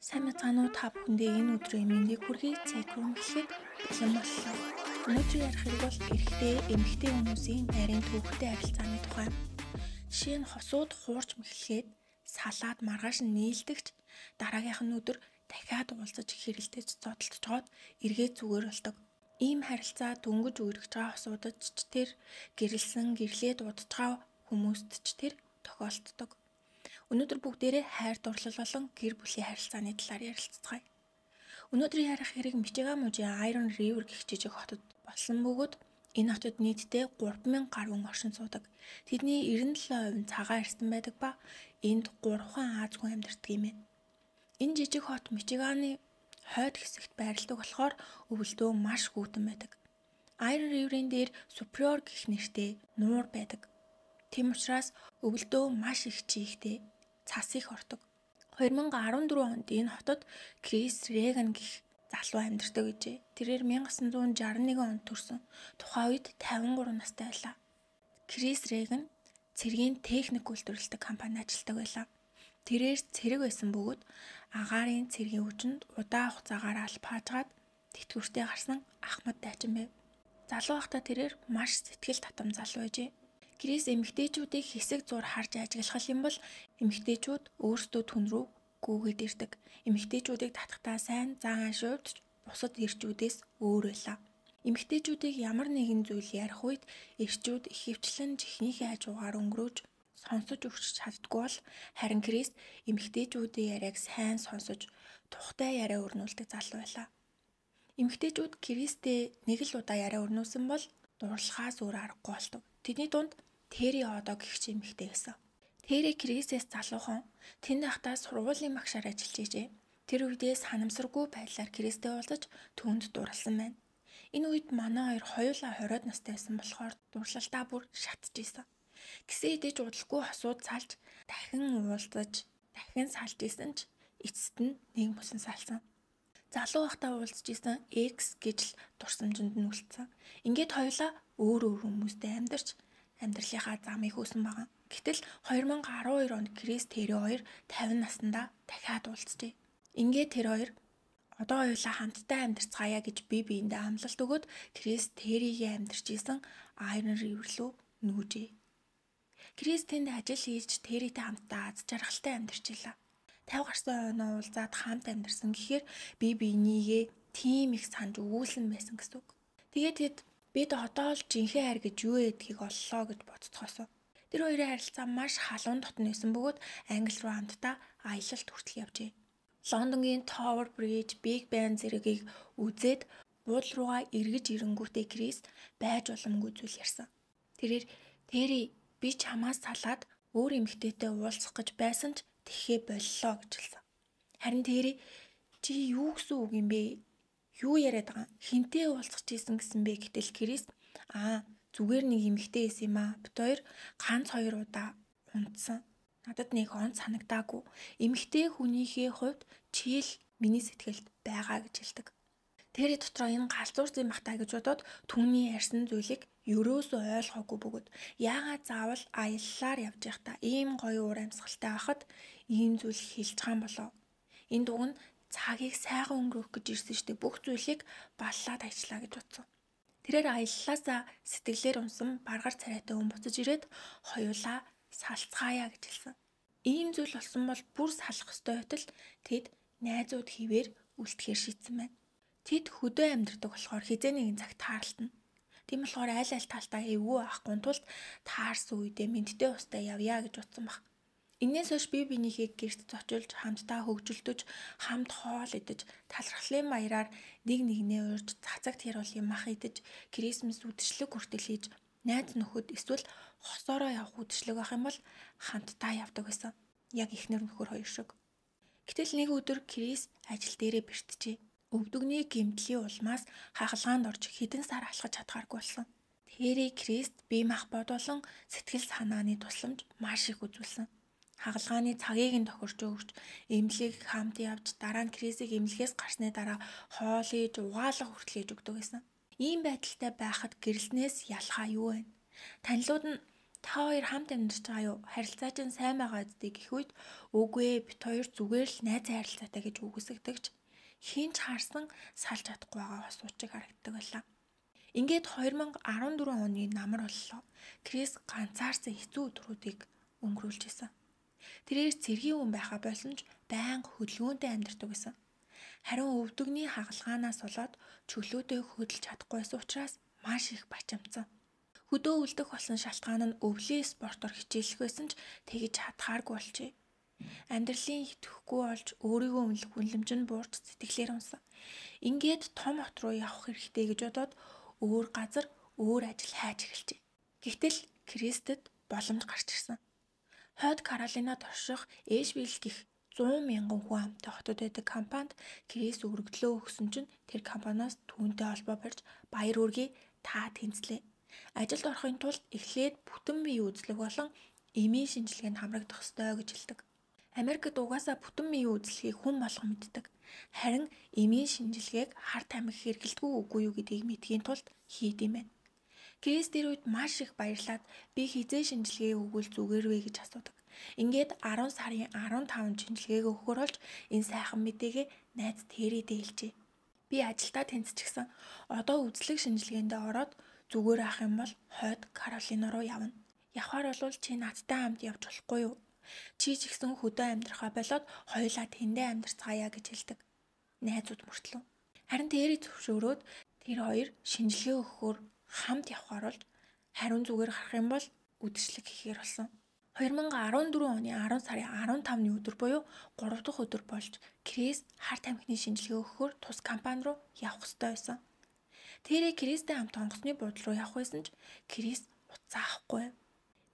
Сайн мэцгааны уу та бүхэндээ энэ өдрийн мэндийг хүргэе. Цэкрум хэлэхэд бэлэн боллоо. Өнөөдөр ярих хэрэг бол эрэгтэй, эмэгтэй хүмүүсийн нарийн төвхтэй харилцааны тухай. Жишээ нь хосууд хуурч мэхлээд салаад маргааш нь нийлдэгч дараагийнх нь өдөр дахиад уулзаж хэрэлдэж зодтолж жоод эргээд зүгээр болдог. Ийм харилцаа дөнгөж үргэж байгаа хосуудад ч тэр гэрэлсэн гэрлээд удаж байгаа хүмүүст ч тэр тохиолддог. Өнөөдөр бүгдээрээ хайр дурлал болон гэр бүлийн харилцааны талаар ярилццгаая. Өнөөдөр ярих хэрэг Мичиган мужийн Iron River гэх жижиг хотод болсон бөгөөд энэ хотод нийтдээ 3000 гаруй оршин суудаг. Тэдний 97% нь цагаан эрсдэн байдаг ба энд 3 Аз хүн амьдардаг юм байна. Энэ жижиг хот Мичиганы хойд хэсэгт байрладаг болохоор өвөлдөө маш хүйтэн байдаг. Iron River-ийн дээр Superior гэх нэртэй нуур байдаг. Тийм учраас өвөлдөө маш их чийгтэй цас их ордог. 2014 онд энэ хотод Крис Реган гэх залуу амьдардаг гэжээ. Тэрээр 1961 онд төрсөн. Тухайн үед 53 настай байлаа. Крис Реган цэргийн техник үйлдвэрлэдэг компанид ажилладаг байлаа. Тэрээр цэрэг байсан бөгөөд агаарын цэргийн хүчинд удаан хугацаагаар албаажгаад тэтгэвртэй гарсан ахмад дайчин байв. Залуу байхдаа тэрээр маш сэтгэл татам залуу байжээ. Крис эмэгтэйчүүдийг хэсэг зур харж ажиглах юм бол эмэгтэйчүүд өөрсдөө түн рүү гүгээд ирдэг. Эмэгтэйчүүдийг татахтаа сайн заан шуйвч бусад эрчүүдээс өөр байлаа. Эмэгтэйчүүдийг ямар нэгэн зүйл ярих үед эрчүүд ихэвчлэн жихнийхээ хажуугаар өнгөрөөж сонсож өгч чаддгүй бол харин Крис эмэгтэйчүүдийн яриаг сайн сонсож тухтай яриа өрнүүлдэг залуу байлаа. Эмэгтэйчүүд Кристтэй нэг л удаа яриа өрнүүлсэн бол дуурлахаас өөр аргагүй болдог. Тэдний дунд Тэри одоо гэх чи эмэгтэй байсан. Тэри Крисээс залуухан тэнд ахтаа сургуулийн багшаар ажиллаж ижээ. Тэр үедээ санамсаргүй байдлаар Кристтэй уулзаж түүнд дурласан байна. Энэ үед манай хоёр хоёулаа 20-од настай байсан болохоор дурлалтаа бүр шатчихсан. Гэсэн хэдий ч удалгүй хосууд салж дахин уулзаж дахин салж исэн ч эцэст нь нэг мөсөн салсан. Залуу байхдаа уулзж исэн X гэж л дурсамжинд нь үлдсэн. Ингээд хоёулаа өөр хүмүүстэй амьдарч амьдралынхаа замыг хөөсөн байгаа. Гэтэл 2012 онд Крис Тэри хоёр 50 наснда дахиад уулзжээ. Ингээд тэр хоёр одоо хоёулаа хамтдаа амьдарцгаая гэж бие биендээ амлалт өгөөд Крис Тэригийн амьдарч исэн Iron River руу нүүжээ. Крис тэнд ажил хийж Тэритэй хамтдаа аз жаргалтай амьдарч илаа. 50 гарсан хойноо уулзаад хамт амьдарсан гэхээр бие биенийгээ тийм их санаж өгүүлсэн байсан гэсэн үг. Тэгээд тэд бид одоо л жинхэнэ хайр гэж юу гэдгийг оллоо гэж бодцохоосоо. Тэр хоёрын харилцаа маш халуун дотн байсан бөгөөд Англи руу хамтдаа аялалд хүртэл явжээ. Лондонгийн Tower Bridge, Big Ben зэрэгийг үзээд буудал руугаа эргэж ирэнгүүтээ Крис байж боломгүй зүйл ярьсан. Тэрээр Тэри би чамаас салаад өөр эмэгтэйтэй уулзах гэж байсан ч тэхээ боллоо гэж хэлсэн. Харин Тэри чи юу гэсэн үг юм бэ? Юу яриад байгаа? Хинтээ уулзах гэсэн бэ гэтэл Крис зүгээр нэг эмэгтэй байсан юм аа. Бид хоёр ганц 2 удаа унтсан. Надад нэг он санагдаагүй. Эмэгтэй хүнийхээ хувьд чийл миний сэтгэлд байгаа гэж хэлдэг. Тэри дотроо энэ галзуур зэм бахтаа гэж бодоод түүний ярьсан зүйлийг ерөөсөө ойлгоогүй бөгөөд яагаад заавал аяллаар явж байхдаа ийм гоё уур амьсгалтай байхад ийм зүйл хэлж байгаа юм болоо. Энэ дуг нь цагийг сайхан өнгөрөөх гэж ирсэн штэ бүх зүйлийг баллаад ажиллаа гэж бодсон. Тэрээр аяллаасаа сэтгэлээр унсан баргар царайтай хүн буцаж ирээд хоёулаа салцгаая гэж хэлсэн. Ийм зүйл болсон бол бүр салах ёстой байтал тэд найзууд хിവэр үлдэхээр шийдсэн байна. Тэд хөдөө амьдардаг болохоор хизээ нэгэн цагт таарлтана. Тийм болохоор аль талтаа эвгүй авахгүй тулд таарсан үедээ мэдтэй устай явъя гэж утсан баг. Инээс хойш бие биенийхээ гэрт зочилж хамтдаа хөгжилдөж хамт хоол идэж талархлын баяраар нэг нэгнээ урьж цацагт хяруулын мах идэж Крисмас үдшилэг хүртэл хийж найз нөхөд эсвэл хосоороо явах үдшилэг байх юм бол хамтдаа явдаг байсан. Яг эхнэр нөхөр хоёр шиг. Гэтэл нэг өдөр Крис ажил дээрээ бэртжээ. Өвдөгний гэмтлийн улмаас хахалгаанд орж хэдэн сар алхаж чадхааргүй болсон. Тэри Крист бие мах бодолон сэтгэл санааны тусламж маш их үзүүлсэн. Хагалгааны цагийг нь тохирч өгч, эмнэлгийг хамт явж, дараа нь Крисийг эмнэлгээс гарсны дараа хоол хийж, угаалга хүртэл хийж өгдөг байсан. Ийм байдалтай байхад гэрэлснээс ялгаа юу вэ? Танилуд нь Та хоёр хамт амьдарч байгаа юу? Харилцаа чинь сайн байгаа үстэй гэх үед үгүй ээ бит хоёр зүгээр л найз харилцаатай гэж үгүйсгдэгч хинч харсан салж чадахгүй байгаа асуучиг харагддаг байлаа. Ингээд 2014 оны намар боллоо. Крис ганцаарсан хэцүү өдрүүдийг өнгөрүүлж исэн. Тэрээр цэргийн хүн байхаа болсон ч байнга хөдөлгөөнтэй амьдардаг байсан. Харин өвдөгний хагалгаанаас болоод чөлөөтэй хөдөлж чадахгүй байсан учраас маш их бачамдсан. Хөдөө үлдэх болсон шалтгаан нь өвлийн спортоор хичээлэх байсан ч тэгж чадхааргүй болжээ. Амьдралын итгэхгүй болж өөрийгөө үнэлэх үнэлэмж нь буурч сэтгэлээр унсан. Ингээд том хот руу явах хэрэгтэй гэж бодоод өөр газар өөр ажил хайж эхэлжээ. Гэвтэл Кристэд боломж гарч ирсэн. Хойд Каролинад орших Эшвилл гэх 100 мянган хүн амтай хотод байдаг компанид Крис өргөдлөө өгсөн чинь тэр компаниас түүнтэй холбоо барьж баяр үргээ та тэнцлээ. Ажилд орохын тулд эхлээд бүтэн бие үзлэг болон эмийн шинжилгээнд хамрагдах ёстой гэж хэлдэг. Америкт угаасаа бүтэн бие үзлэгийг хүн болгон мэддэг. Харин эмийн шинжилгээг хар тамхи хэрэглэдэггүй үгүй юу гэдгийг мэдхийн тулд хийд юм байна. Крис тэр үед маш их баярлаад би хизээ шинжилгээ өгвөл зүгээр вэ гэж асуудаг. Ингээд 10 сарын 15 шинжилгээг өгөхөр болж энэ сайхан мэдээгээ найз Терри дээлжээ. Би ажилдаа тэнцчихсэн. Одоо үзлэг шинжилгээндээ ороод зүгээр ах юм бол хойд Каролина руу явна. Явхаар бол чи надтай хамт явж болохгүй юу? Чи ч ихсэн хөдөө амьдрахаа болоод хоёулаа тэндээ амьдарцгаая гэж хэлдэг. Найзууд мөртлөө. Харин Терри зөвшөөрөөд тэр хоёр шинжилгээ өгөхөөр хамт явхаар болж хариун зүгээр харах юм бол үдшилэг хийхээр болсон. 2014 оны 10 сарын 15-ны өдөр буюу 3 дахь өдөр болж Крис хар тамхины шинжилгээ өгөхөөр тус компани руу явах ёстой байсан. Тэрэ Кристтэй хамт онгоцны буудлын руу явах байсан ч Крис утсаа авахгүй.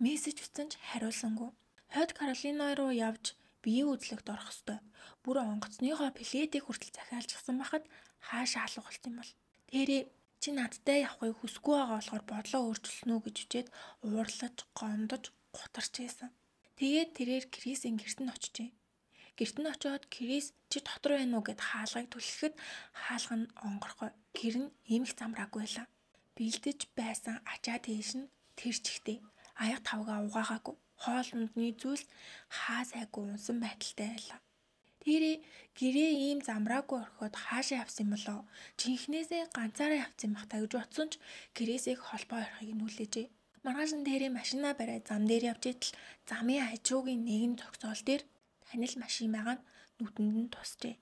Мессеж бичсэн ч хариулсангүй. Хойд Каролина руу явж биеийн үзлэгт орох ёстой. Бүр онгоцныхоо плетийг хүртэл захиалчихсан байхад хаашаа алах болт юм бол. Тэрэ чи надтай явахыг хүсэхгүй байгаа болохоор бодлоо өөрчилсөн үү гэж үчээд уурлаж, гомдож, гутарч байсан. Тэгээд тэрээр Крисийн гэрт нь очижээ. Гэрт нь очиод Крис чи дотор байна уу гэд хаалгыг түлхэхэд хаалга нь онгорхой. Гэр нь эмх замраагүй байлаа. Бэлдэж байсан ачаа тийш нь тэр чихтэй. Аяг тавгаа угаагаагүй. Хоол ундны зүйлс хаа сайгүй унсан байдалтай байлаа. Тэрэ гэрээ ийм замраагүй орхиод хаашаа явсан болоо. Жинхнээсээ ганцаараа явсан бах та гэж бодсон ч Крисийг холбоо орохыг нүлээжээ. Маргааш нь Тэрэ машинаа бариад зам дээр явж итэл замын хажуугийн нэгэн зогсоол дээр танил машин байгаа нь нүдэнд нь тусжээ.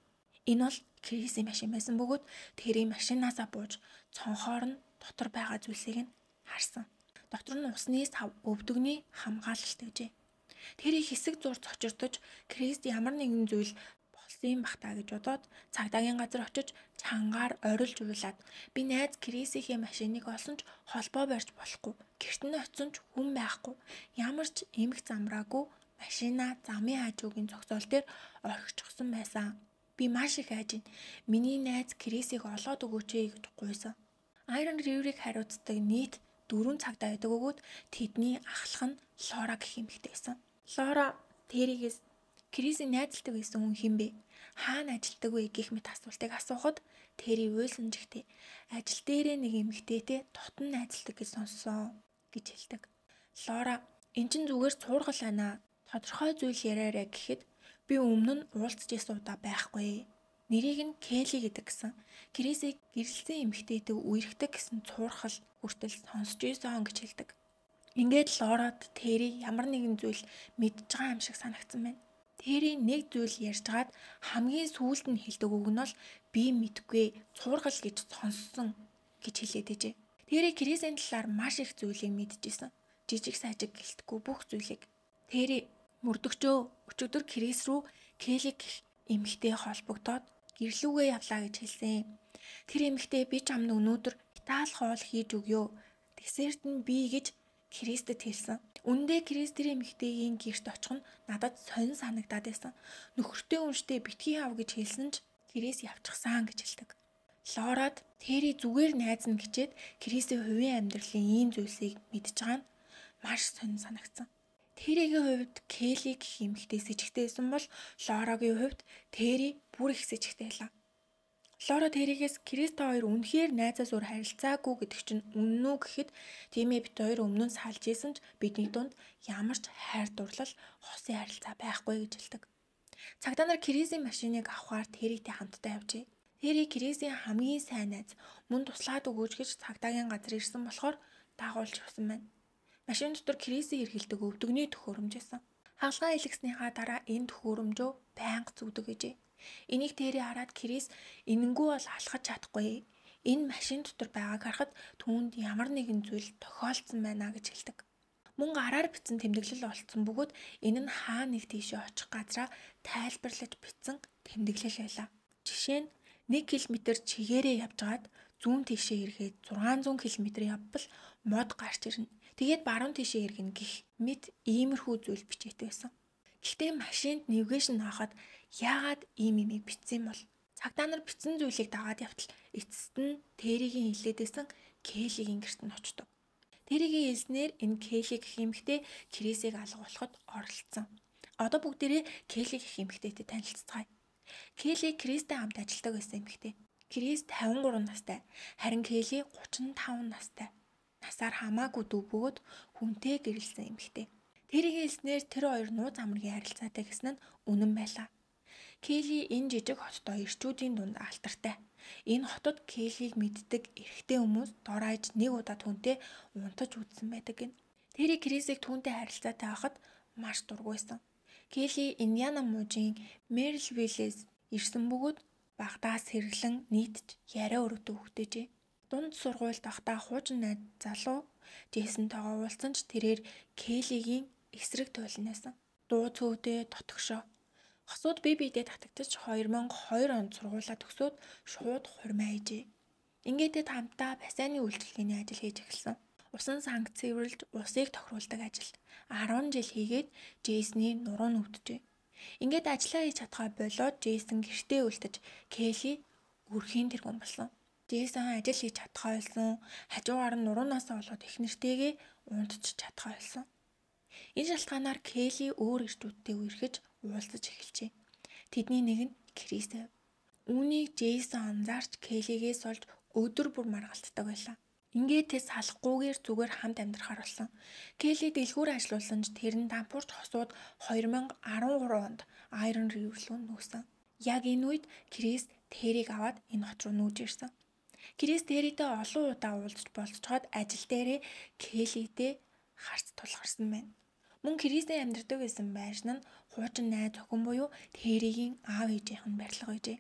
Энэ бол Крисийн машин байсан бөгөөд Тэрийн машинаасаа бууж цонхоор нь дотор байгаа зүйлсийг нь харсан. Дотор нь усны сав өвдөгний хамгаалалт гэжээ. Тэрийг хэсэг зурц очирдож Крист ямар нэгэн зүйл болсон бах та гэж бодоод цагдаагийн газар очиж чангаар орилж уйлаад би найз Крисийн машиныг олсон ч холбоо барьж болохгүй. Гэрт нь очисон ч хүн байхгүй. Ямар ч эмх замраагүй машина замын хажуугийн зогсоол дээр орхичихсан байсан. Би маш их айж байна. Миний найз Крисийг олоод өгөөч гэж гуйсан. Iron River-ыг хариуцдаг нийт 4 цагдаа байдаг өгөөд тэдний ахлах нь Лора гэх эмэгтэй байсан. Лора Тэригээс Крисийн найзалдаг байсан хүн хэн бэ? Хаана ажилдаг вэ гэх мэт асуултыг асуухад Тэри уйлсан жигтэй ажил дээрээ нэг эмэгтэйтэй дотн найзалдаг гэж сонссон гэж хэлдэг. Лора эн чин зүгээр цуургал байна. Тодорхой зүйл яриараа гэхэд би өмнө нь уулзж исэн удаа байхгүй. Нэрийг нь Келли гэдэг гэсэн. Крисийг гэрэлсэн эмэгтэйтэй үерхдэг гэсэн цуурхал хүртэл сонсч ийсэн гэж хэлдэг. Ингээд Лорад Тэри ямар нэгэн зүйл мэдж байгаа юм шиг санагдсан байна. Тэри нэг зүйл ярьжгаад хамгийн сүүлд нь хэлдэг үг нь бол би мэдгүй цуургал гэж сонссон гэж хэлээд ээжээ. Тэри Крисийн талаар маш их зүйлийг мэдчихсэн. Жижиг сажиг гэлтгүй бүх зүйлийг. Тэри мөрдөгчөө өчигдөр Крис рүү Келли гэх эмэгтэй холбогдоод гэрлүүгээ явлаа гэж хэлсэн. Тэр эмэгтэй би ч амд өнөөдөр Итали хоол хийж өгөө. Десерт нь би гэж Кристэд хэлсэн. Үндэ Крис тэр эмэгтэйгийн гэрт очих нь надад сонин санагдаад байсан. Нөхөртэй үнштэй битгий хав гэж хэлсэн ч Крис явчихсан гэж хэлдэг. Лорад Тэри зүгээр найз нь гэчээд Крисийн хувийн амьдралын ийм зүйлсийг мэдж байгаа нь маш сонин санагдсан. Тэригийн хувьд Келли гэх эмэгтэй сэжигтэй байсан бол Лорагийн хувьд Тэри бүр их сэжигтэй байлаа. Лора тэрийгээс Крист та хоёр үнэхээр найзаас өөр харилцаагүй гэдэг чинь үнэн үү гэхэд тийм ээ бид хоёр өмнө нь салж исэн ч бидний дунд ямар ч хайр дурлал хосын харилцаа байхгүй гэж хэлдэг. Цагдаа нар Крисийн машиныг авахаар Территэй хамтдаа явжээ. Терри Крисийн хамгийн сайн найз мөн туслаад өгөөч гэж цагдаагийн газар ирсэн болохоор дагуулж явсан байна. Машин дотор Крисийн хэргэлдэг өвдөгний төхөөрөмж байсан. Хаалгаа илгэснийхаа дараа энэ төхөөрөмжөө байнга зүгдэг гэжээ. Энийг Терри хараад Крис энэнгүү бол алхаж чадахгүй. Энэ машин дотор байгааг харахад түүнд ямар нэгэн зүйл тохиолдсон байна гэж хэлдэг. Мөн гараар бичсэн тэмдэглэл олцсон бөгөөд энэ нь хаа нэг тийшээ очих газраа тайлбарлаж бичсэн тэмдэглэл байлаа. Жишээ нь 1 км чигээрээ явжгаад зүүн тийшээ эргээд 600 км явбал мод гарч ирнэ. Тэгээд баруун тийшээ эргэнэ гэх мэт иймэрхүү зүйл бичээтэй байсан. Гэхдээ машинд нэвгейшн хаахад яагаад ийм имийг бичсэн бол? Цагдаа нар бичсэн зүйлийг дагаад явтал эцэст нь Терригийн хилээдсэн Келлигийн гэрт нь очдог. Терригийн хэлснээр энэ Келли гэх эмэгтэй Крисийг алгуулахад оролцсон. Одоо бүгдээрээ Келли гэх эмэгтэйтэй танилццгаая. Келли Кристтэй хамт ажилладаг байсан эмэгтэй. Крис 53 настай, харин Келли 35 настай. Насаар хамаагүй дүү бөгөөд хүнтэй гэрэлсэн эмэгтэй. Тэрийн хэлснээр тэр хоёр нууц амргийн харилцаатай гэсэн нь үнэн байлаа. Келли энэ жижиг хоттой ирчүүдийн дунд алтартай. Энэ хотод Келлиг мэддэг эрэгтэй хүмүүс дор хаяж нэг удаа түүнтэй унтаж үзсэн байдаг гин. Терри Крисийг түүнтэй харилцаатай байхад маш дургуйсан. Келли Индиана мужийн Мэрилвиллээс ирсэн бөгөөд багтаас сэрлэн нийтж яриа өрөвдөө хөгтөөжээ. Дунд сургуульд байхдаа хуучин найз залуу Джейсонтойгоо уулзсан ч тэрээр Келлигийн эсрэг туйлнасан. Дуу цөвдөө дотгошоо. Хосууд бие биедээ татагдчих 2002 онд сургуулаа төгсөөд шууд хурмаа хийжээ. Ингээд хамтдаа бассейны үйлчилгээний ажил хийж эхэлсэн. Усан санг цэвэрлж усыг тохируулдаг ажил 10 жил хийгээд Джейсны нуруу нь өвдөжээ. Ингээд ажиллаа хийж чадхаа болоод Джейсон гэртээ үлдэж Келли өрхийн тэргүүн болсон. Джейсон ажил хийж чадхаа болсон. Хажуугаар нь нуруунаас болоод их нэртэйгээ унтж чадхаа болсон. Энэ шалтгаанаар Келли өөр ирчүүдтэй үерхэж уулзаж эхэлжээ. Тэдний нэг нь Крис. Үүнийг Джейсон анзаарч Келлигээс олж өдөр бүр маргалтдаг байлаа. Ингээд тэс салахгүйгээр зүгээр хамт амьдрахаар болсон. Келли дэлгүүр ажиллуулсан ч тэр нь дампуурч хосууд 2013 онд Iron River руу нүүсэн. Яг энэ үед Крис Терриг аваад энэ хот руу нүүж ирсэн. Крис Территэй олон удаа уулзч болцоход ажил дээрээ Келлитэй харц тулгарсан байна. Мөн Крисийн амьдардаг байсан байшин нь хуучин найз охин буюу Терригийн аав ээжийнх нь барилга байжээ.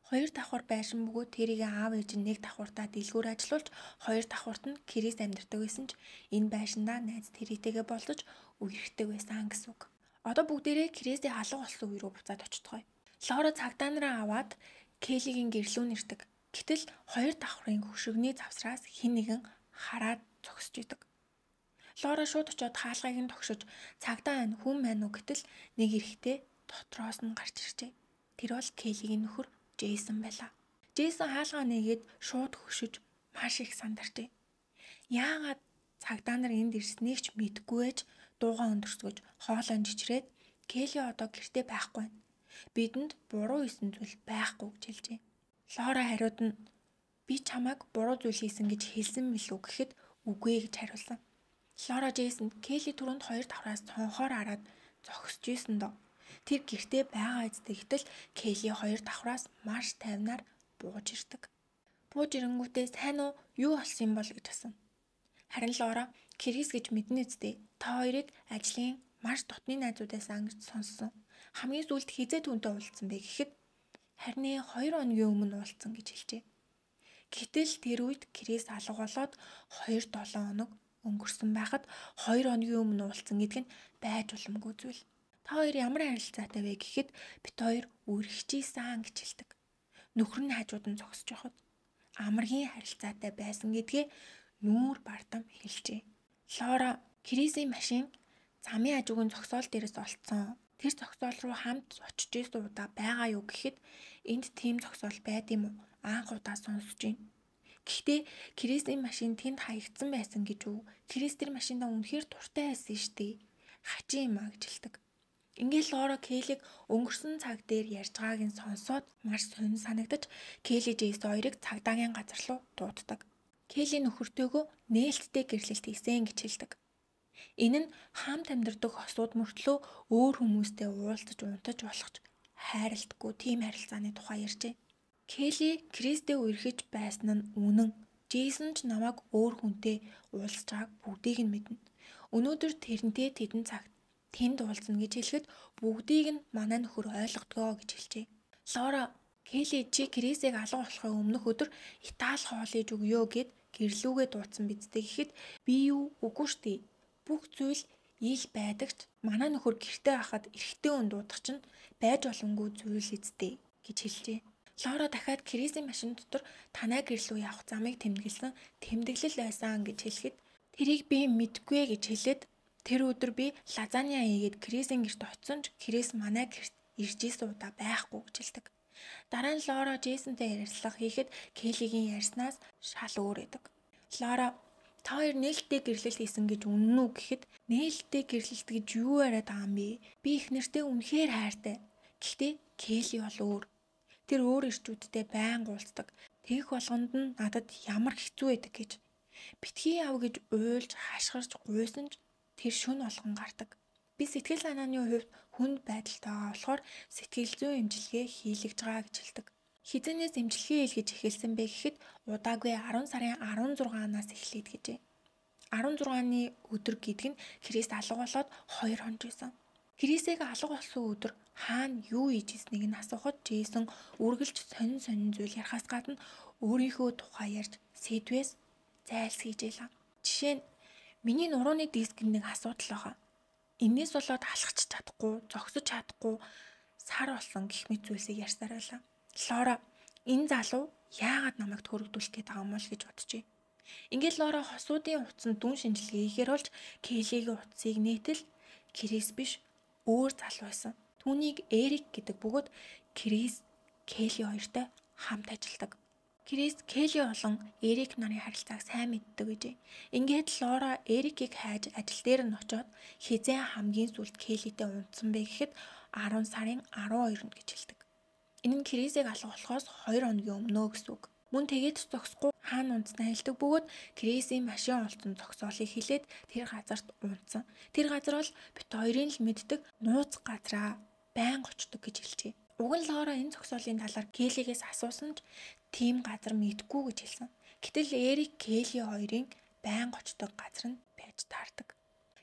Хоёр давхар байшин бөгөөд Терригийн аав ээж нь нэг давхартаа дэлгүүр ажиллуулж хоёр давхарт нь Крис амьдардаг байсан ч энэ байшиндаа найз Территэйгээ болцож үерхдэг байсан гэсэн үг. Одоо бүгдээрээ Крисийн халах болсон үе рүү буцаад очтгоё. Лора цагдаа нараа аваад Келлигийн гэрлүүн ирдэг. Гэтэл хоёр давхрын хөшигний завсраас хэн нэгэн хараад зогсож идэг. Лора шууд очиод хаалгыг нь тогшиж цагдаа ань хүн байна уу гэтэл нэг эрэгтэй дотроос нь гарч иржээ. Тэр бол Келлигийн нөхөр Джейсон байлаа. Джейсон хаалгаа нээгээд шууд хөшиж маш их сандарчээ. Яагаад цагдаа нар энд ирснийг ч мэдгүй ээж дуугаа өндөрсгөж хоолой жичрээд Келли одоо гэртээ байхгүй байна. Бидэнд буруу хийсэн зүйл байхгүй гэж хэлжээ. Лора хариуд нь би чамайг буруу зүйл хийсэн гэж хэлсэн мэлүү гэхэд үгүй гэж хариулсан. Лора Джейсон Келли түрүүнд хоёр давхраас цонхоор хараад зогсож исэн доо. Тэр гэртээ байгаа эцтэй гэтэл Келли хоёр давхраас маш тайвнаар бууж ирдэг. Бууж ирэнгүүтээ сайн уу юу болсон юм бол гэж асуув. Харин Лора Крис гэж мэднэ үстэй. Та хоёрыг ажлын маш дотны найзуудаас ангиж сонссон. Хамгийн сүүлд хизээ түүнтэй уулзсан бэ гэхэд харин 2 хоногийн өмнө уулзсан гэж хэлжээ. Гэтэл тэр үед Крис алга болоод 2-7 хоног өнгөрсөн байхад 2 хоногийн өмнө уулзсан гэдэг нь байж боломгүй зүйл. Та хоёр ямар харилцаатай вэ гэхэд бит хоёр үргэлжижсэн гэж хэлдэг. Нөхөр нь хажууд нь зогсож байхад амаргийн харилцаатай байсан гэдгээ нүүр бардам хэлжээ. Лора Крисийн машин замын хажуугийн зогсоол дээрээс олцсон. Тэр зогсоол руу хамт очиж исэн удаа байгаа юу гэхэд энд тийм зогсоол байд юм уу? Анх удаа сонсож байна. Гэхдээ Крисийн машин тэнд хаягдсан байсан гэж үү? Крис тэр машиндаа үнэхээр дуртай байсан шүү дээ. Хачин юм а гэж хэлдэг. Ингээл Лора Келлиг өнгөрсөн цаг дээр ярьж байгааг нь сонсоод маш сонир санагдаж Келли Джейс хоёрыг цагдаагийн газар руу дууддаг. Келли нөхөртөөгөө нээлттэй гэрлэлт хийсэн гэж хэлдэг. Энэ нь хамт амьдардаг хосууд мөртлөө өөр хүмүүстэй уулзаж унтаж болгож хайралтгүй тийм харилцааны тухай ярьжээ. Келли Кристтэй үерхэж байсан нь үнэн. Джейсон ч намайг өөр хүнтэй уулзж байгааг бүгдийг нь мэднэ. Өнөөдөр тэрнтэй тэдэн цагт тэнд уулзна гэж хэлэхэд бүгдийг нь манай нөхөр ойлгодгоо гэж хэлжээ. Лора, Келли чи Крисийг алга болохын өмнөх өдөр Итали хоол иж өгөө гэд гэрлүүгээ дуудсан бидтэй гэхэд би юу үгүй штий. Бүх зүйл ил байдагч манай нөхөр гэртээ хахад эрэгтэй хүн дуудах чинь байж боломгүй зүйл эзтэй гэж хэлжээ. Лора дахиад Крисийн машин дотор танай гэрлүү явах замыг тэмдэглэсэн тэмдэглэл байсан гэж хэлэхэд тэрийг би мэдгүй гэж хэлээд тэр өдөр би лазаня хийгээд Крисийн гэрт очсон ч Крис манай гэрт ирж исэн удаа байхгүй гэж хэлдэг. Дараа нь Лора Джейсонтэй ярилцлага хийхэд Келлигийн ярьснаас шал өөр байдаг. Лора та хоёр нээлттэй гэрлэлт хийсэн гэж үнэн үү гэхэд нээлттэй гэрлэлт гэж юу яриад байгаа юм бэ? Би их нэртэй үнэхээр хайртай. Гэхдээ Келли бол өөр. Тэр өөр ирчүүдтэй байнга уулздаг. Тэгэх болгонд нь надад ямар хэцүү байдаг гэж. Битгий яв гэж уйлж хашгирч гуйсан ч тэр шүн болгон гардаг. Би сэтгэл санааны хувьд хүнд байдалтай байгаа болохоор сэтгэл зүйн эмчилгээ хийлгэж байгаа гэж хэлдэг. Хизэнээс эмчилгээ хийлгэж эхэлсэн бэ гэхэд удаагүй 10 сарын 16-наас эхлээд гэжээ. 16-ны өдөр гэдэг нь Крис алга болоод 2 хоног байсан. Крисийг алга болсон өдөр хаана юу хийж ирснийг нь асуухад Джейсон үргэлж сонин зүйл ярихаас гадна өөрийнхөө тухай ярьж сэдвээс зайлсхийжээ. Жишээ нь миний нурууны дискэнд нэг асуудал байгаа. Энээс болоод алхаж чадахгүй, зогсож чадахгүй сар болсон гэх мэт зүйлсийг ярьсаар байлаа. Лора энэ залуу яагаад намайг төрөгдүүлэх гээд байгаа юм бол гэж боджээ. Ингээд Лора хосуудын утсанд дүн шинжилгээ хийхээр болж Келлигийн утсыг нээтэл Крис биш өөр залуу байсан. Түүнийг Эрик гэдэг бөгөөд Крис Келли хоёртой хамт ажилладаг. Крис Келли болон Эрик нарын харилцааг сайн мэддэг гэжээ. Ингээд Лора Эрикийг хайж ажил дээр нь очоод хизээ хамгийн сүүлд Келлитэй унтсан бэ гэхэд 10 сарын 12-нд гэж хэлдэг. Энэ нь Крисийг алга болохоос 2 хоногийн өмнөө гэсэн үг. Мөн тэгээд зогсохгүй хаана унтснаа хэлдэг бөгөөд Крисийн машин олцсон зогсоолыг хэлээд тэр газарт унтсан. Тэр газар бол бит хоёрын л мэддэг нууц газраа байнга очдог гэж хэлжээ. Уг нь Лора энэ зогсоолын талаар Келлигээс асуусан ч тийм газар мэдгүй гэж хэлсэн. Гэтэл Эрик Келли хоёрын байнга очдог газар нь байж таардаг.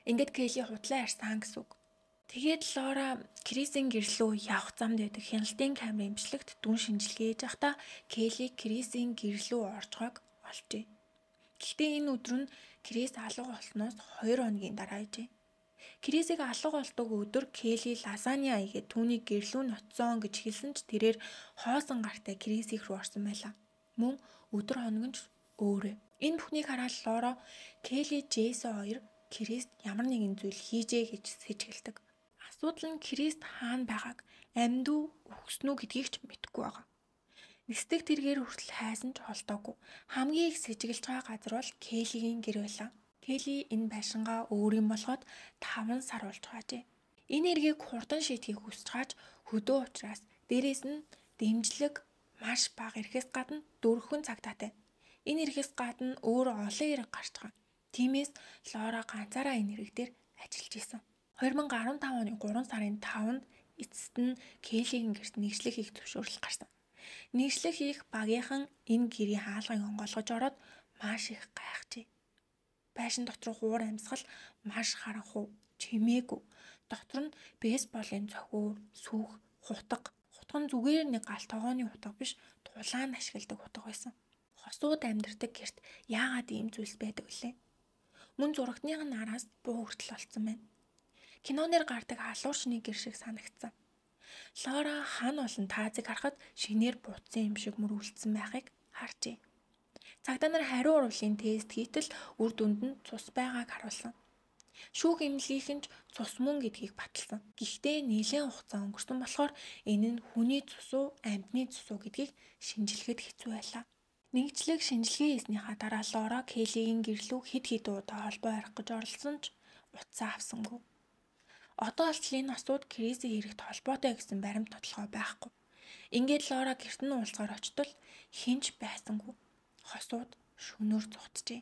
Ингээд Келли худлаа ярьсан гэсэн үг. Тэгээд Лора Крисийн гэрлүү явах замд байдаг хяналтын камерын имчилэгт дүн шинжилгээ хийж байхдаа Келли Крисийн гэрлүү оржгоог олжээ. Гэхдээ энэ өдөр нь Крис алга болсноос 2 хоногийн дараа ижээ. Крисийг алга болдог өдөр Келли лазаня игээд түүний гэрлүү нь очсон гэж хэлсэн ч тэрээр хоосон гартай Крис их рүү орсон байлаа. Мөн өдөр хоног нь өөрөө. Энэ бүхнийг хараад Лора Келли Джейсон хоёр Крист ямар нэгэн зүйл хийжээ гэж сэжгэлдэг. Асуудал нь Крист хаана байгааг амьд уу өгснүү гэдгийг ч мэдэхгүй байгаа. Нисдэг тэргээр хүртэл хайсан ч холдоогүй. Хамгийн их сэжгэлж байгаа газар бол Келлигийн гэр байлаа. Келли энэ байшингаа өөр юм болгоод 5 сар болж байжээ. Энэ эргийг хурдан шийдэхийг хүсэж хааж хөдөө учраас дээрээс нь дэмжлэг маш бага ирэхээс гадна дөрвөн цагтаатай. Энэ ирэхээс гадна өөр олон хэрэг гарч байгаа. Тиймээс Лора ганцаараа энэ хэрэг дээр ажиллаж исэн. 2015 оны 3 сарын 5-нд эцэст нь Келлигийн гэрт нэгжлэг хийх зөвшөөрөл гарсан. Нэгжлэг хийх багийнхан энэ гэрийн хаалгыг онгойлгож ороод маш их гайхжээ. Байшин дотор хуур амьсгал маш харанхуй, чимээгүй. Дотор нь бейсболын цохиур, сүх, хутга. Хутга нь зүгээр нэг галт тогооны хутга биш, тулаан ашигладаг хутга байсан. Хосууд амьдардаг гэрт яагаад ийм зүйлс байдаг вүлээ? Мөн зурагтных нь араас буу хүртэл олцсон байна. Кинонэр гардаг алуурчны гэр шиг санагдсан. Лора хан болон таазыг харахад шинээр буцсан юм шиг мөрүүлсэн байхыг харжээ. Цагдаа нар хариу уруулын тест хийтэл үр дүнд нь цус байгааг харуулсан. Шүүх эмнэлгийнхэн ч цус мөн гэдгийг баталсан. Гэхдээ нэлээд хугацаа өнгөрсөн болохоор энэ нь хүний цус уу, амьтны цус уу гэдгийг шинжилгээд хэцүү байлаа. Нэгжлэг шинжилгээ хийснийхаа дараа Лора Келлигийн гэрлүү хэд удаа холбоо арих гэж оролцсон ч утсаа авсангүй. Одоо болтол энэ осууд Крисийн хэрэгт холбоотой гэсэн баримт тодорхой байхгүй. Ингээд Лора гэрт нь уулзгаар очтол хинч байсангүй. Хосууд шөнөөр зугтжээ.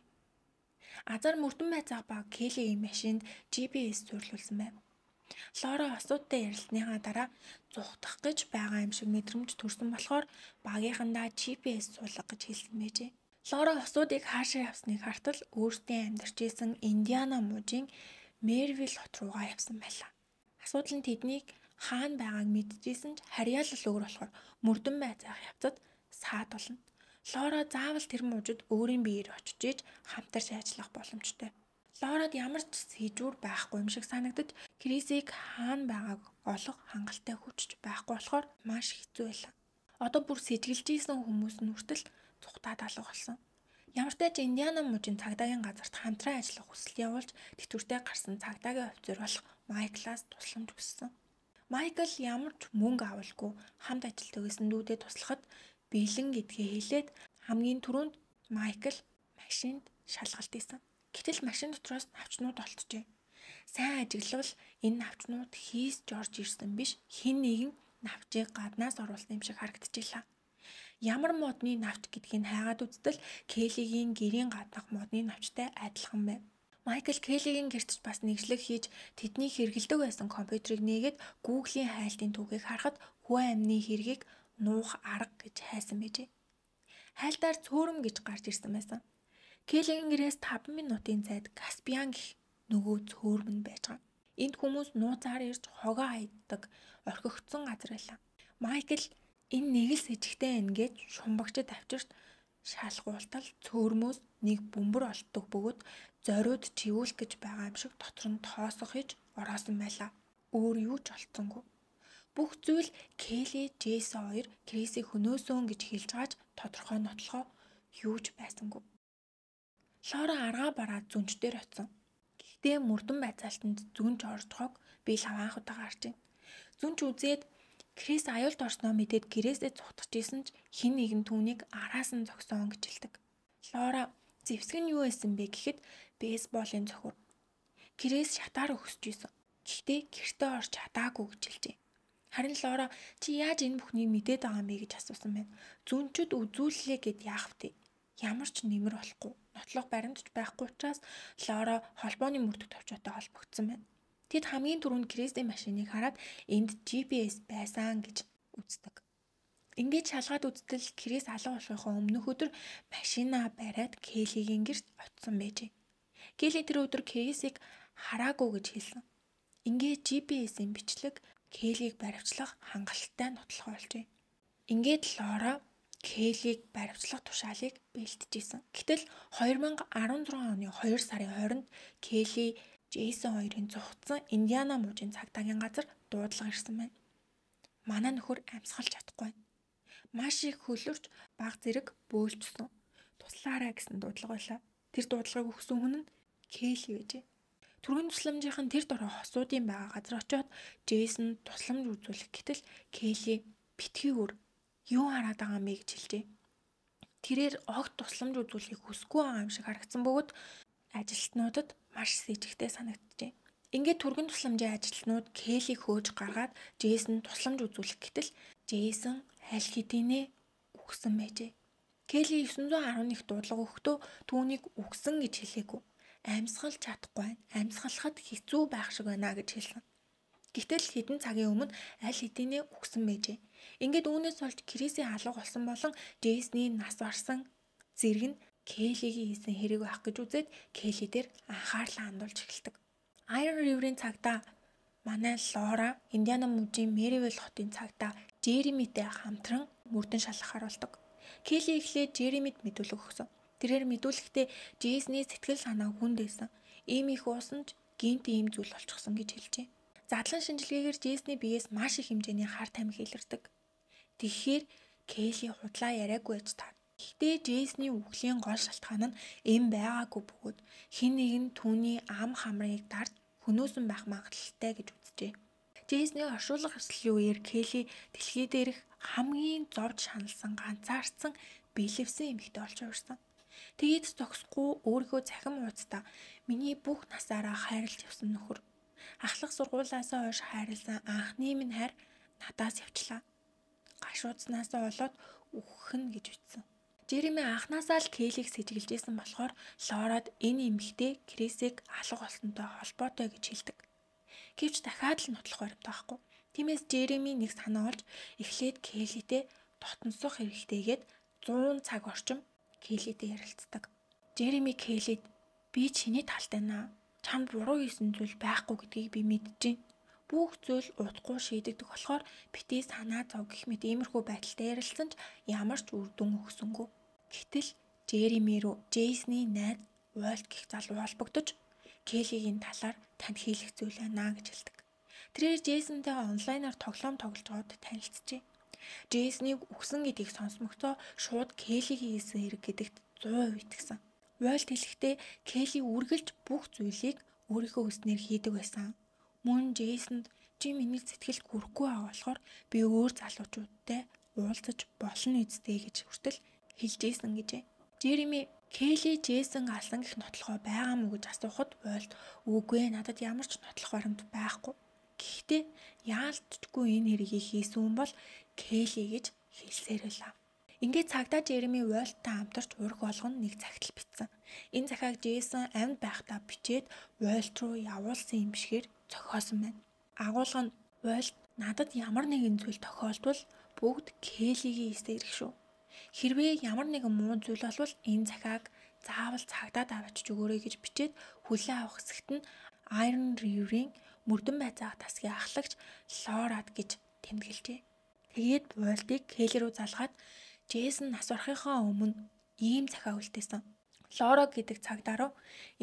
Азар мөрдөн байцаах ба Келлигийн машинд GPS суйрлуулсан байв. Лора осуудтай ярилцсаныхаа дараа зугтах гэж байгаа юм шиг мэдрэмж төрсөн болохоор багийнхандаа GPS суулга гэж хэлсэн байжээ. Лора осуудыг хаашаа явсныг хартал өөртөө амьдарч исэн Индиана мужийн Мервил хот руугаа явсан байлаа. Асуудал нь тэднийг хаана байгааг мэдчихсэн ч харьяалал өөр болохоор мөрдөн байцаах явцад саад болно. Лора заавал тэр мужид өөрийн биеэр очиж иж хамтарч ажиллах боломжтой. Лорад ямар ч сэжүүр байхгүй юм шиг санагдаж Крисийг хаана байгааг олох хангалттай хүчж байхгүй болохоор маш хэцүү байлаа. Одоо бүр сэжиглэж исэн хүмүүс нь хүртэл цухтаад алга болсон. Ямар ч тач Индиана мужийн цагдаагийн газарт хамтран ажиллах хүсэлт явуулж тэтгэвртэй гарсан цагдаагийн офицер болох Майклаас тусламж хүссэн. Майкл ямар ч мөнгө авалгүй хамт ажилтдаг гэсэн дүүдэд туслахад бэлэн гэдгээ хэлээд хамгийн түрүүнд Майкл машинд шалгалт хийсэн. Гэтэл машин дотроос навчнууд олджээ. Сайн ажиглавал энэ навчнууд хийсж орж ирсэн биш, хэн нэгэн навчийг гаднаас оруулсан юм шиг харагдчихлаа. Ямар модны навч гэдгийг хайгаад үзтэл Келлигийн гэрийн гаднах модны навчтай адилхан байв. Майкл Келлигийн гэртч бас нэгжлэг хийж тэдний хэрэгэлдэг байсан компьютерыг нээгээд Google-ийн хайлтын түүхийг харахад хүү амны хэргийг нуух арга гэж хайсан байжээ. Хайлтаар цөөрөм гэж гарч ирсэн байсан. Келлигийн гэрээс 5 минутын зайд Каспиан гэх нөгөө цөөрөм нь байж байгаа. Энд хүмүүс нууцаар ирж хогоо хайдаг орхигдсон газар байлаа. Майкл энэ нэг л сэжигтэй ингээд шумбагчд авчирт шалгуултал цөөрмөөс нэг бөмбөр олддог бөгөөд зориуд живүүлэх гэж байгаа юм шиг дотор нь тоосох хийж ороосон байлаа. Өөр юу ч олцсонгүй. Бүх зүйл Келли, Джейсон хоёр Крисийг хөнөөсөн гэж хэлж байгаач тодорхой нотлохоо юу ч байсангүй. Лора аргаа бараад зүнчдэр очсон. Гэхдээ мөрдөн байцаалтанд зүнч оржхог би лаваан удаа гарчээ. Зүнч үзээд Крис аюулд орсноо мэдээд гэрээсээ цухтаж исэн ч хэн нэгэн түүнийг араас нь зогсоон гэж хэлдэг. Лора зэвсэг нь юу байсан бэ гэхэд бейсболын цохор. Крис шатаар өгсөж исэн. Гэхдээ гэртээ орж чадаагүй гэж хэлжээ. Харин Лора чи яаж энэ бүхнийг мэдээд байгаа юм бэ гэж асуусан байна. Зүнчүүд үзүүллээ гэд яах вэ? Ямар ч нэмэр болохгүй. Нотлох баримтч байхгүй учраас Лора холбооны мөрдөх товчоотой холбогдсон байна. Тэд хамгийн түрүүнд Крисийн машиныг хараад энд GPS байсан гэж үздэг. Ингээд шалгаад үзтэл Крис алга болохын өмнөх өдөр машинаа бариад Келлигийн гэрт очсон байжээ. Келли тэр өдөр Крисийг хараагүй гэж хэлсэн. Ингээд GPS-ийн бичлэг Келлиг баривчлах хангалттай нотлох болжээ. Ингээд Лора Келлиг баривчлах тушаалыг бэлтжижсэн. Гэтэл 2016 оны 2 сарын 20-нд Келли Джейсон хоёрын зугтсан Индиана мужийн цагдаагийн газар дуудлага ирсэн байна. Манай нөхөр амьсгалж чадахгүй байна. Маш их хөлөрч баг зэрэг бөөлжсөн. Туслаарай гэсэн дуудлага байлаа. Тэр дуудлагыг өгсөн хүн нь Келли байжээ. Түргэн тусламжийнхан тэр дорой хосуудын байгаа газар очиод Джейсон тусламж үзүүлэх гэтэл Келли битгий өөр юу хараад байгаа юм бэ гэж хэлжээ. Тэрээр огт тусламж үзүүлэхийг хүсэхгүй байгаа юм шиг харагдсан бөгөөд ажилтнуудад маш сэжигтэй санагджээ. Ингээд түргэн тусламжийн ажилтнууд Келлиг хөөж гаргаад Джейсон тусламж үзүүлэх гэтэл Джейсон аль хэдийнэ үгсэн байжээ. Келли 911 дуудлага өгөхдөө түүнийг үгсэн гэж хэлээгүй. Амьсгалж чадахгүй байна. Амьсгалахад хэцүү байх шиг байна гэж хэлсэн. Гэтэл хэдэн цагийн өмнө аль хэдийнэ үгсэн байжээ. Ингээд үүнээс болж Крисийн алга болсон болон Джейсны нас барсан зэрэг нь Келлигийн хийсэн хэрэг байх гэж үзээд Келли дээр анхаарлаа хандуулж эхэлдэг. Iron River-ийн цагдаа манай Лора Индиана мужийн Меривил хотын цагдаа Жеремитэй хамтран мөрдөн шалгахаар болдог. Келли эхлээд Жеремид мэдүүлэг өгсөн. Тэрээр мэдүүлэхдээ Джейсны сэтгэл санаа хүнд байсан. Ийм их уусан ч гинт ийм зүйл болчихсон гэж хэлжээ. Задлан шинжилгээгээр Джейсны биеэс маш их хэмжээний хар тамхи илэрдэг. Тэгэхээр Келли худлаа яриаггүй байж таа. Гэхдээ Джейсны үхлийн гол шалтгаан нь эм байгаагүй бөгөөд хэн нэгэн түүний ам хамрыг дарж хөнөөсөн байх магадлалтай гэж үзжээ. Джейсны оршуулга ёслолын үеэр Келли дэлхий дээрх хамгийн зовж шаналсан ганцаардсан бэлэвсэн эмэгтэй болж хувирсан. Тэгээд зогсохгүй өөрийнхөө цахим ууцтай миний бүх насаараа хайрлж явсан нөхөр. Ахлах сургуулаасаа хойш хайрласан анхны минь хайр надаас явчлаа. Гашуудснаасаа болоод үхэх нь гэж ütсэн. Жереми анхнаасаа л Кейлийг сэжиглэжсэн болохоор Лорад энэ эмэгтэй Крисийг алга болсонтой холбоотой гэж хэлдэг. Гэвч дахиад л нотлох баримттай байхгүй. Тиймээс Жереми нэг санаа олж эхлээд Кейлитэй дотносох хэрэгтэйгээд 100 цаг орчим Кейлитэй ярилцдаг. Жереми Кейлид би чиний талтай наа. Чамд буруу хийсэн зүйл байхгүй гэдгийг би мэдэж байна. Бүх зүйл удахгүй шийдэгдэх болохоор битгий санаа зов гэх мэт иймэрхүү байдалтай ярилцсан ч ямар ч үр дүн өгсөнгүй. Гэтэл Жереми рүү Джейсний найз Уолт гэх залуу холбогдож Кейлигийн талаар танд хийх зүйл байна гэж хэлдэг. Тэрээр Джейсонтэйгээ онлайнаар тоглоом тоглож байгаад танилцжээ. Джейснийг үгсэн гэдгийг сонсмогцоо шууд Кейлигийн хийсэн хэрэг гэдэгт 100% итгэсэн. Уолт хэлэхдээ Кейли үргэлж бүх зүйлийг өөрийнхөө хүснээр хийдэг байсан. Мөн Джейсонд чи миний сэтгэлд хүрэхгүй байгаа болохоор би өөр залуучуудтай уулзаж болно үсттэй гэж хүртэл хэлжсэн гэжээ. Жереми Кейли Джейсон алсан гэх нотлохоо байгаа мүү гэж асуухад Уолт үгүй надад ямар ч нотлох баримт байхгүй. Гэхдээ яалтчгүй энэ хэргийг хийсэн хүн бол Кейли гэж хэлсээр байлаа. Ингээд цагдаа Жереми Уолттай хамтарч ураг болгоно нэг цагтл бичсэн. Энэ захааг Джейсон амьд байхдаа бичээд Уолт руу явуулсан юм шигээр зохиосон байна. Агуулга нь Уолт надад ямар нэгэн зүйл тохиолдвол бүгд Кейлигийн эсээр их шүү. Хэрвээ ямар нэгэн муу зүйл болвол энэ захааг заавал цагдаад авчиж өгөөрэй гэж бичээд хүлээн авах хэсэгт нь Iron River-ийн мөрдөн байцаах тасгийн ахлагч Лорад гэж тэмдэглэжээ. Тэгээд Уолтыг Кейли рүү залгаад Джейсон нас барахынхаа өмнө ийм захаа үлдээсэн. Лора гэдэг цагдаа руу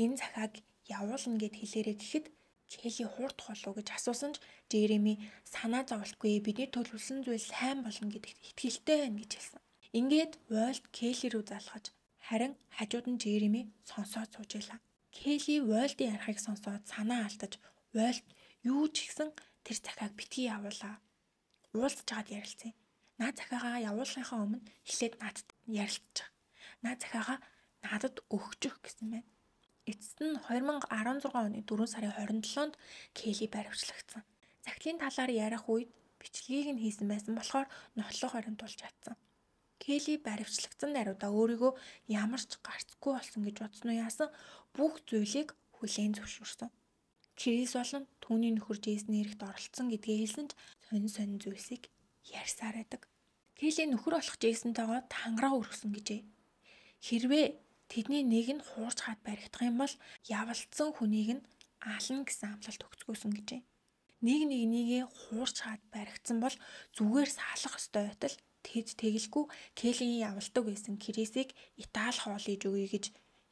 энэ захааг явуулна гэд хэлээрэй гэхэд Кейли хуурдах болов гэж асуусан ч Жереми санаа зовлтгүй бидний төлөвлөсөн зүйл сайн болно гэдэгт итгэлтэй байна гэж хэлсэн. Ингээд Уолт Кейли рүү залгаж харин хажууд нь Жереми сонсоод сууж байлаа. Кейли Уолтын ярихыг сонсоод санаа алдаж Уолт юу ч ихсэн тэр захааг битгий явуулаа. Уулзж чад ярилцсан. Наад захаагаа явуулахынхаа өмнө эхлээд надад ярилцчих. Наад захаагаа надад өгчих гэсэн байна. Эцэст нь 2016 оны 4 сарын 27-нд Кейли баривчлагдсан. Захидлын талаар ярих үед бичлэгийг нь хийсэн байсан болохоор нотлох баримт болж чадсан. Кейли баривчлагдсан даруйдаа өөрийгөө ямар ч гарцгүй болсон гэж бодсон уу яасан бүх зүйлийг хүлээн зөвшөөрсөн. Крис болон түүний нөхөр Джейсний эрэхт оролцсон гэдгээ хэлсэн ч сонин зүйлсийг ярьсаар байдаг. Кейли нөхөр болох Джейсонтойгоо тангараа өргөсөн гэжээ. Хэрвээ тэдний нэг нь хуурч хаад баригдах юм бол явалцсан хүнийг нь ална гэсэн амлалт өгцгөөсөн гэжээ. Нэгнийгээ хуурч хаад баригдсан бол зүгээр салах ёстой байтал тэд тэгэлгүй Кейлийн явалдаг байсан Крисийг Итали хоолойж өгье гэж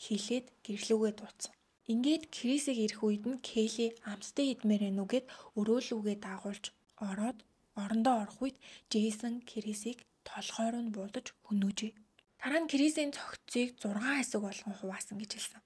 хэлээд гэрлүүгээ дууцсан. Ингээд Крисийг ирэх үед нь Кейли амттай идмээр байна уу гэд өрөөлүүгээ дагуулж ороод орондоо орох үед Джейсон Крисийг толгой руу нь буудаж хөнөөжээ. Дараа нь Крисийн цогцыг 6 хэсэг болгон хуваасан гэж хэлсэн.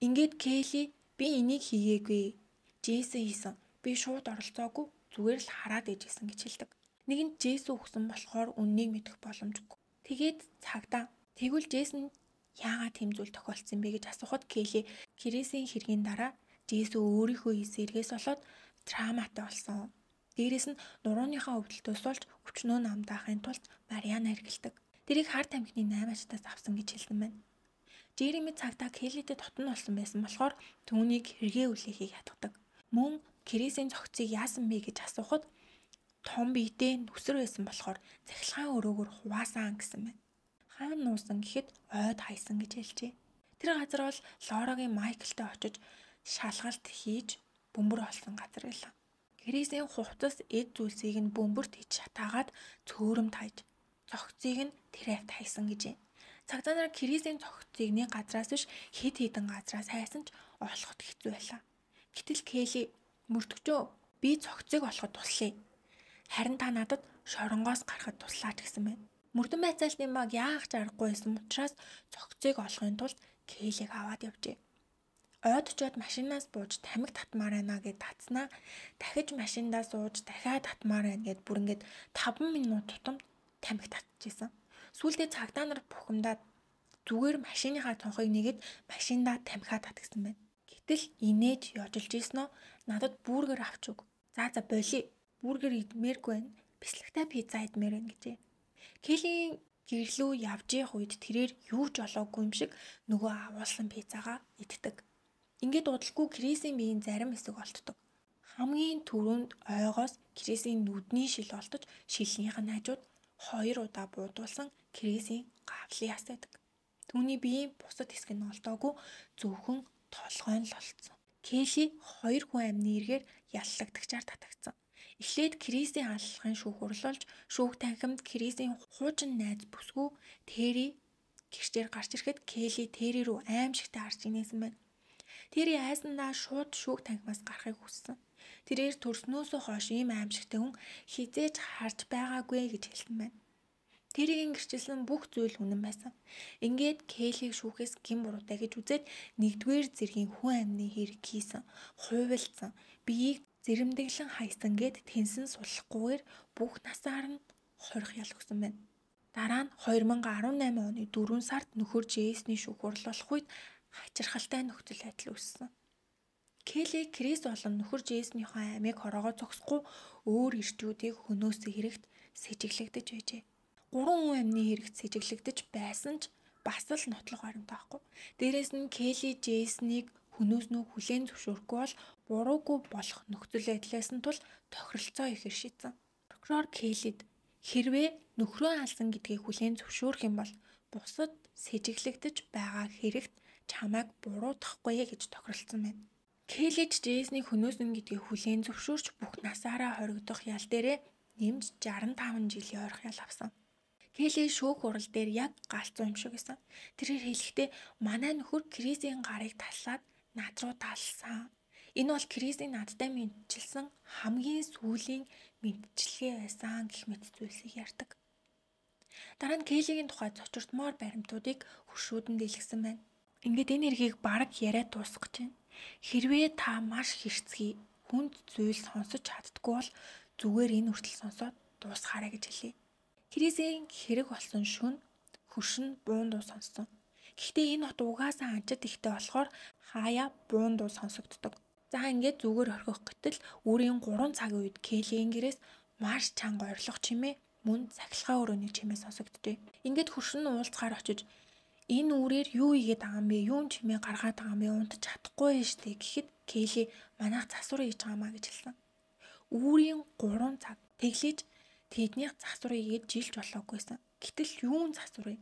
Ингээд Кейли би энийг хийгээгүй. Джейсон хийсэн. Би шууд оролцоогүй зүгээр л хараад ээжсэн гэж хэлдэг. Нэгэнт Джейсон өгсөн болохоор үннийг мэдэх боломжгүй. Тэгээд цагдаа тэгвэл Джейсон яагаад тэм зүйл тохиолдсон бэ гэж асуухад Кейли Крисийн хэргийн дараа Джейсон өөрийнхөө хийсэн эргээс болоод травматай болсон. Дээрээс нь нурууныхаа өвдөлтөөс болж өчнөө намдаахын тулд Мариана хэргэлдэг. Тэрийг хар тамхины 8-ачтаас авсан гэж хэлсэн байна. Жереми цагдаа Кейлитэй дотно болсон байсан болохоор түүнийг хэрэгээ үлээхийг ятгадаг. Мөн Крисийн цогцыг яасан бэ гэж асуухад том биетэй нүсэр байсан болохоор цахилгаан өрөөгөр хуваасан гэсэн байна. Хаан нуусан гэхэд ойд хайсан гэж хэлжээ. Тэр газар бол Лорагийн Майклтай очиж шалгалт хийж бөмбөр олсон газар байлаа. Крисийн хувцас эд зүйлсийг нь бөмбөрт хийж шатаагаад цөөрөмд хайж цогцыг нь тэрэвт хайсан гэжээ. Цагдаа нар Крисийн цогцыг нэг газраас биш хэд хэдэн газраас хайсан ч олоход хэцүү байлаа. Гэтэл Кейли мөрдөгчөө би цогцыг олоход туслая. Харин та надад шоронгоос гарахад туслаач гэсэн байна. Мөрдөн байцаалтын баг яах ч аргагүй байсан учраас цогцыг олохын тулд Кейлиг аваад явжээ. Ойд очиод машинаас бууж тамхи татмаар байна гэд татснаа. Дахиж машиндаа сууж дахиад татмаар байна гэд бүр ингээд 5 минут тутамд тамхи татчихсан. Сүүлдээ цагдаа нар бухимдаад зүгээр машиныхаа цонхыг нэгэд машиндаа тамхиа татгсан байна. Гэтэл инээж ёжилж ийснөө надад бургер авч өг. За болий. Бургер идмээргүй байна. Бислэгтэй пицца идмээр байна гэжээ. Келлийн гэрлүү явж явах үед тэрээр юу ч олоогүй юм шиг нөгөө агуулсан пиццагаа иддэг. Ингээд удалгүй Крисийн биеийн зарим хэсэг олддог. Хамгийн түрүүнд ойгоос Крисийн нүдний шил олдож шилнийх нь хажууд 2 удаа буудуулсан Крисийн гавлын яс байдаг. Түүний биеийн бусад хэсэг нь олдоогүй зөвхөн толгой нь л олцсон. Келли 2 хүн амны эргээр яллагдагчаар татагдсан. Эхлээд Крисийн аллахын шүүх урлуулж шүүх танхимд Крисийн хуучин найз бүсгүй Терри гэрчээр гарч ирэхэд Келли Терри рүү аимшигтай харж инээсэн байна. Терри айсандаа шууд шүүх танхимаас гарахыг хүссэн. Тэрээр төрснөөсөө хойш ийм аимшигтай хүн хизээж харж байгаагүй гэж хэлсэн байна. Тэрийн гэрчилсэн бүх зүйл үнэн байсан. Ингээд Келлиг шүүхээс гин буруутай гэж үзээд 1-р зэргийн хүн амны хэрэг хийсэн, хуйвалцсан, биеийг зэрэмдэглэн хайсан гэд тэнсэн суллахгүйгээр бүх насаар нь хорих ял өгсөн байна. Дараа нь 2018 оны 4 сард нөхөр Джейсний шүүх урлуулах үед хачирхалтай нөхцөл байдал үүссэн. Келли Крис болон нөхөр Джейснийхээ амийг хороогоо зогсохгүй өөр ирчүүдийг хөнөөсөө хэрэгт сэжиглэгдэж байжээ. 3 хүн амны хэрэгт сэжиглэгдэж байсан ч бас л нотлох баримттай байхгүй. Дээрээс нь Келли Джейснийг хөнөөснөө хүлээн зөвшөөрөхгүй бол буруугүй болох нөхцөл байдлаас нь тул тохиролцоо ихээр шийдсэн. Прокурор Келлид хэрвээ нөхрөө алсан гэдгийг хүлээн зөвшөөрөх юм бол бусад сэжиглэгдэж байгаа хэрэгт чамайг буруутгахгүй гэж тохиролцсон байна. Келли Джейснийг хөнөөсөн гэдгийг хүлээн зөвшөөрч бүх насаараа хоригдох ял дээрээ нэмж 65 жилийн ойрох ял авсан. Келли шүүх хурал дээр яг галзуу юм шиг байсан. Тэрээр хэлэхдээ манай нөхөр Крисийн гарыг таслаад над руу талсан. Энэ бол Крисийн надтай мэдчилсэн хамгийн сүүлийн мэдчилгээ байсан гэх мэт зүйлсийг ярьдаг. Дараа нь Келлигийн тухай зочирдмоор баримтуудыг хуршүүдэнд дэлгэсэн байна. Ингээд энэ эргийг бараг яриад дуусгаж байна. Хэрвээ та маш хэрцгий хүнд зүйл сонсож чаддгүй бол зүгээр энэ хүртэл сонсоод дуусгаарай гэж хэлье. Крисийн хэрэг болсон шөнө хөршин буун дуу сонссон. Гэхдээ энэ хот угаасаа анчид ихтэй болохоор хаяа буун дуу сонсогддог. За ингээд зүгээр орхих гэтэл өөрийн 3 цагийн үед Келлийн гэрээс маш чанга ойрлох чимээ мөн цахилгаан өрөөний чимээ сонсогддээ. Ингээд хөршин уулзахаар очиж энэ үрээр юу игээд байгаа юм бэ? Юун чимээ гаргаад байгаа юм бэ? Унтаж чадахгүй юм штэ гэхэд Келли манайх засвар хийж байгаамаа гэж хэлсэн. Үүрийн 3 цаг тэглэж тэднийх засварыг игээд жилж болоогүйсэн. Гэтэл юун засвар вэ?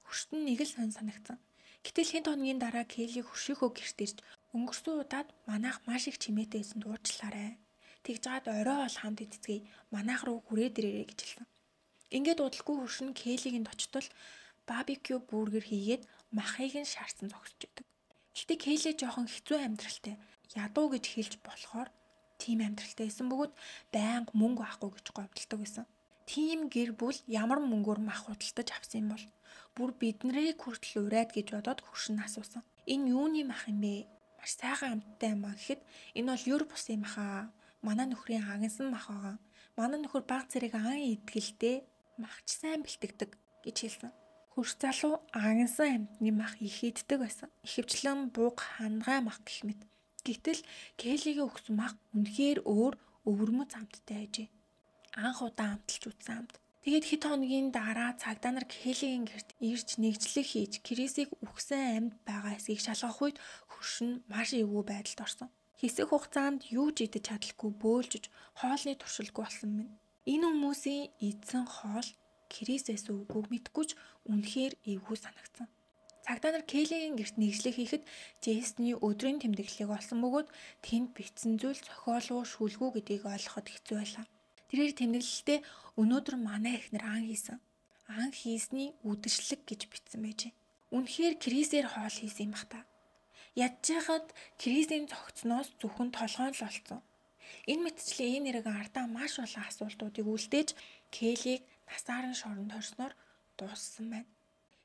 Хөршин нэг л санагдсан. Гэтэл хэн хоногийн дараа Келли хөршийнхөө гэрт ирж өнгөрсөн удаад манайх маш их чимээтэйсэн дуучлаарай. Тэгж жаад орой бол хамт идцгээе. Манайх руу хүрээд ирээрэй гэж хэлсэн. Ингээд удалгүй хөршин Келлигийн очтол барбекю бургер хийгээд махыг нь шаардсан зогсож идэг. Гэхдээ Келли жоохон хэцүү амьдралтай. Ядуу гэж хэлж болохоор тийм амьдралтай байсан бөгөөд байнга мөнгө авахгүй гэж гомдолдог байсан. Тийм гэр бүл ямар мөнгөөр мах худалдаж авсан юм бол бүр биднэрийг хүртэл урайд гэж бодоод хөршин асуусан. Энэ юуны мах юм бэ? Маш сайхан амттай юм аа гэхэд энэ бол юр бусын мах аа. Манай нөхрийн агнсан мах байгаа. Манай нөхөр баг зэрэг ан идгэлтэй махч сайн бэлтгэдэг гэж хэлсэн. Хөрш залуу агнсан амтны мах их иддэг байсан. Ихэвчлэн буг хангай мах гэх мэт. Гэтэл Келлигийн өгсөн мах үнэхээр өөр өвөрмөц амттай байжээ. Анх удаа амталж үзсэн амт. Тэгээд хэд хоногийн дараа цагдаа нар Келлигийн гэрт ирж нэгжлэг хийж Крисийг үхсэн амьд байгаа хэсгийг шалгах үед хөршин маш эвгүй байдалд орсон. Хэсэг хугацаанд юу ч идэж чадалгүй бөөлжж хоолны туршилгүй болсон байна. Энэ хүмүүсийн эзэн хоол Крисээс үгүйг мэдгүй ч үнэхээр эвгүй санагдсан. Цагдаа нар Келлигийн гэрт нэгжлэг хийхэд Джейсний өдрийн тэмдэглэлийг олсон бөгөөд тэнд бичсэн зүйл зохиолгүй шүлгүй гэдгийг ойлгоход хэцүү байлаа. Тэрээр тэмдэглэлдээ өнөөдөр манай эхнэр ан хийсэн. Ан хийсний үдэшлэг гэж бичсэн байжээ. Үнэхээр Крисээр хоол хийсэн юм бах та. Ядчихад Крисийн цогцноос зөвхөн толгой л олцсон. Энэ мэтчлийн энэ нэрэг ардаа маш олон асуултуудыг үлдээж Келлиг насааран шоронд хорсноор дууссан байна.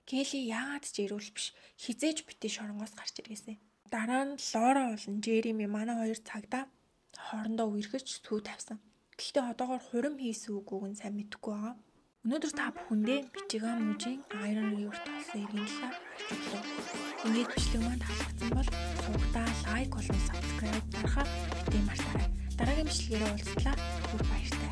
Келли яагаад ч ирүүл биш хизээж битээ шоронгоос гарч иргээсэн. Дараа нь Лора болон Жереми манай хоёр цагдаа хоорондоо үерхэж сүү тавьсан. Гэхдээ одоогоор хурим хийсэн үгүйг нь сайн мэдэхгүй байгаа. Өнөөдөр та бүхэндээ Мичиган мужийн Iron River толсон иргэн талаар хэлсэн. Ингээд бичлэг маань таалагдсан бол дугтаа лайк болон subscribe дарахаа битгий мартаарай. Дараагийн бичлэгээрээ уулзлаа. Түр баяртай.